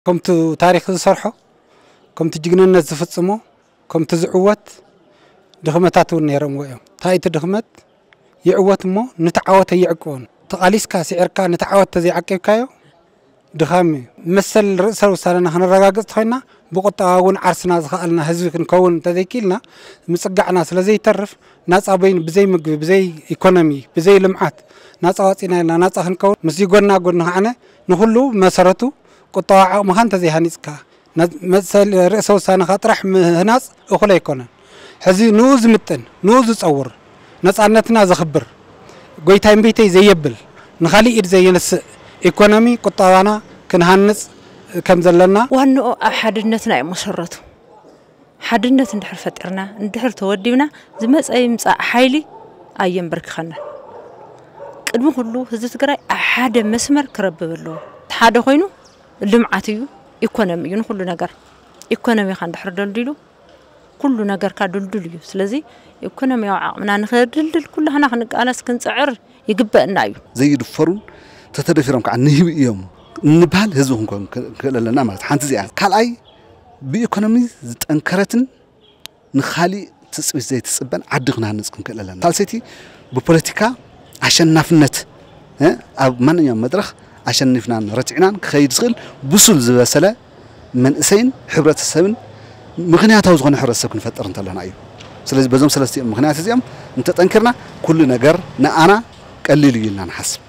ከምቲ ታሪኽ ዝሰርሖ፣ ከምቲ ጅግንነት ዝፍጽሞ፣ ከምቲ ዝዕወት ድኽመታት እውን ነይሮምዎ እዮም። እንታይ እቲ ድኽመት ይዕወት እሞ ንተዓወት ኣይዕቅቦን። ተቓሊስካ ስዒርካ ንተዓወት ተዘይዓቂብካዮ ድኻም እዩ። መሰል ርእሰ ውሳነና ክነረጋግጽ ተኾይና ብቁጠባ እውን ዓርስና ዝኸኣልና ህዝቢ ክንከውን እንተዘይክኢልና ምጽጋዕና ስለ ዘይተርፍ ናጻ በይኑ ብዘይ ምግቢ፣ ብዘይ ኢኮኖሚ፣ ብዘይ ልምዓት ናጻ ዋጺና ኢልና ናጻ ክንከውን ምስ ጎና ጎኒ ከዓነ ንኹሉ መሰረቱ ቁጠባ ዓቕምኻ እንተዘይሃኒጽካ፣ መሰል ርእሰ ውሳነኻ ጥራሕ ምህናጽ እኹል ኣይኮነን። ሕዚ ንኡ ዝምጥን፣ ንኡ ዝጸውር፣ ነጻነትና ዘኽብር፣ ጎይታይ እምቢተይ ዘየብል፣ ንኻሊእ ኢድ ዘየነስእ ኢኮኖሚ ቁጠባና ክንሃንጽ ከም ዘለና። ዋንኦ ኣብ ሓድነትና እዩ መሰረቱ። ሓድነት እንድሕር ፈጢርና፣ እንድሕር ተወዲብና፣ ዝመጸ ይምጻእ ሓይሊ ኣየንበርክኸናን። ቅድሚ ኩሉ ህዝቢ ትግራይ ኣብ ሓደ መስመር ክረብብ ኣለዎ። እቲ ሓደ ኮይኑ ልምዓት እዩ፣ ኢኮኖሚ እዩ ንኩሉ ነገር። ኢኮኖሚኻ እንድሕር ደልዲሉ ኩሉ ነገርካ ድልዱል እዩ። ስለዚ ኢኮኖሚያዊ ዓቕምና ንኸድልድል ኩላህና ክንቃለስ ክንጽዕር ይግበእና እዩ። ዘይድፈሩን ተተደፊሮም ከዓ ንህቢ እዮም እንበሃል ህዝቢ ክንኮን ክንክእል ኣለና ማለት ሓንቲ እዚኣ። ካልኣይ ብኢኮኖሚ ዝጠንከረትን ንኻሊእ ትፅቢት ዘይትፅበን ዓዲ ክንሃንፅ ክንክእል ኣለና። ሳልሰይቲ ብፖለቲካ ኣሸናፍነት ኣብ ማንኛውም መድረኽ ኣሸኒፍናን ረቲዕናን ክኸይድ ዝኽእል ብሱል ዝበሰለ መንእሰይን ሕብረተሰብን ምኽንያታዊ ዝኾነ ሕብረተሰብ ክንፈጥር እንተለና እዩ። ስለዚ በዞም ሰለስቲኦም ምኽንያት እዚኦም እንተጠንኪርና ኩሉ ነገር ንኣና ቀሊል እዩ ኢልና ንሓስብ።